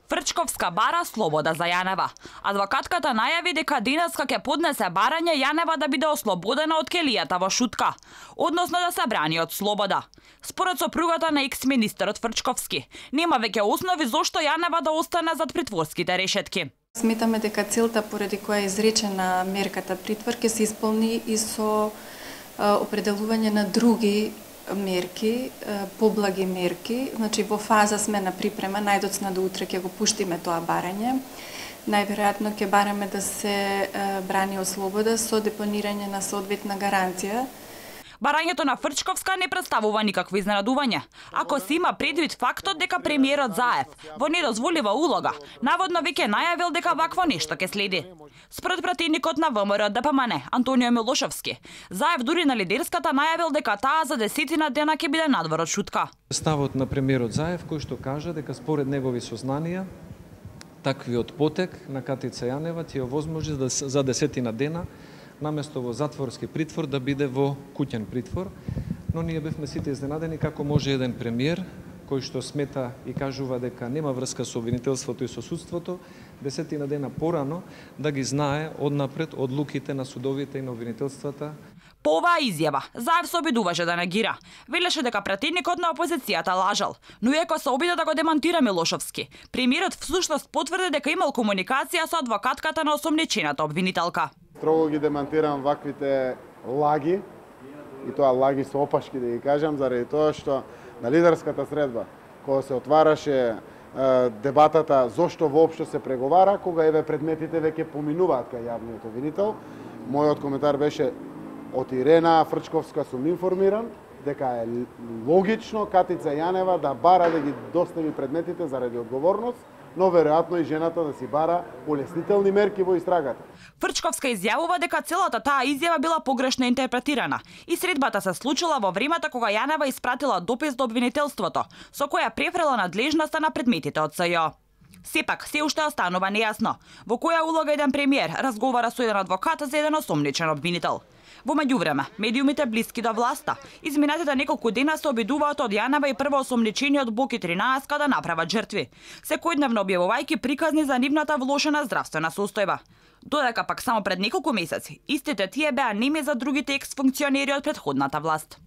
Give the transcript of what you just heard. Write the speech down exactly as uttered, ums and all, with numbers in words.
Фрчковска бара слобода за Јанева. Адвокатката најави дека денеска ќе поднесе барање Јанева да биде ослободена од келијата во Шутка, односно да се брани од слобода. Според сопругата на екс-министерот Фрчковски, нема веќе основи зошто Јанева да остане зад притворските решетки. Сметаме дека целта поради која е изречена мерката притвор ќе се исполни и со определување на други мерки, поблаги мерки. Значи во фаза сме на припрема, најдоцна до утре ќе го пуштиме тоа барање. Најверојатно ќе бараме да се брани од слобода со депонирање на соодветна гаранција. Барањето на Фрчковска не представува никакво изненадување, ако се има предвид фактот дека премиерот Заев во недозволива улога, наводно веќе најавил дека вакво нешто ќе следи. Според пратеникот на ВМРО Д П М Н, Антонио Милошовски, Заев дури на лидерската најавил дека таа за десетина дена ќе биде надвор од Шутка. Ставот на премиерот Заев кој што кажа дека според негови сознанија таквиот потек на Катица Јанева ќе овозможи за десетина дена наместо во затворски притвор да биде во куќен притвор, но ние бевме сите изненадени како може еден премиер кој што смета и кажува дека нема врска со обвинителството и со судството, десетина дена порано да ги знае однапред одлуките на судовите и на обвинителствата. По оваа изјава, Заев се обидуваше да негира. Велеше дека пратеникот на опозицијата лажал, но иако се обида да го демантира Милошовски, премиерот всушност потврди дека имал комуникација со адвокатката на осомничената обвинителка. Строго ги демантирам ваквите лаги, и тоа лаги со опашки да ги кажам, заради тоа што на лидерската средба, кога се отвараше е, дебатата зошто воопшто се преговара, кога еве предметите веќе поминуваат кај јавниот обвинител, мојот коментар беше од Ирена Фрчковска сум информиран дека е логично Катица Јанева да бара да ги достави предметите заради одговорност, но веројатно и жената да си бара улеснителни мерки во истрагата. Фрчковска изјавува дека целата таа изјава била погрешно интерпретирана и средбата се случила во времето кога Јанева испратила допис до обвинителството, со која префрела надлежноста на предметите од С Ј. Сепак, се уште останува нејасно во која улога еден премиер разговара со еден адвокат за еден осомничен обвинител. Во меѓувреме, медиумите блиски до власта изминатите неколку дена се обидуваат од Јанева и првоосомничениот Боки тринаесет да направат жртви, секојдневно објавувајќи приказни за нивната влошена здравствена состојба. Додека пак само пред неколку месеци, истите тие беа неми за другите екс-функционери од претходната власт.